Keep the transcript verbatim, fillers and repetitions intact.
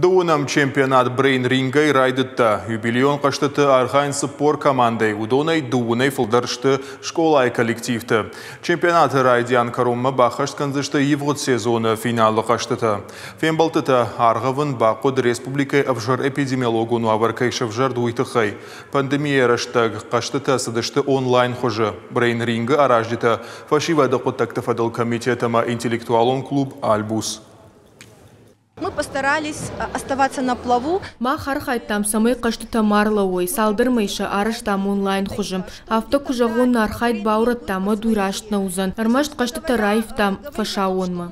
Дыууынӕм чемпионат брейн-рингӕй райдыдта. Юбилейон хъӕзтыты архайынц цыппор командӕйы, уыдонӕй дыууынӕй фылдӕр сты скъолайы коллективтӕ. Чемпионаты райдиан кӕронмӕ баххӕст кӕндзысты ивгъуыд сезоны финалы хъӕзтытӕ. Фембӕлдтытӕ аргъӕвын бахъуыд республикӕйы ӕвзӕр эпидемиологон уавӕр кӕй сӕвзӕрд, уый тыххӕй. Пандемийӕ рӕстӕг хъӕзтытӕ цыдысты онлайн хуызы. Брейн-рингы аразджытӕ фӕсивӕды хъуыддӕгты фӕдыл комитет ӕмӕ интеллектуалон клуб «Альбус». Мы постарались оставаться на плаву. Мах архайдтам, цӕмӕй хъӕзтытӕ ма рлӕууой, цалдӕр мӕй сӕ арӕзтам онлайн хуызы. Афтӕ куы зӕгъон, нӕ архайд баурӕдтам, уӕд уый раст нӕ уыдзӕн. Ӕрмӕст хъӕзтытӕ раивтам фӕсаууонмӕ.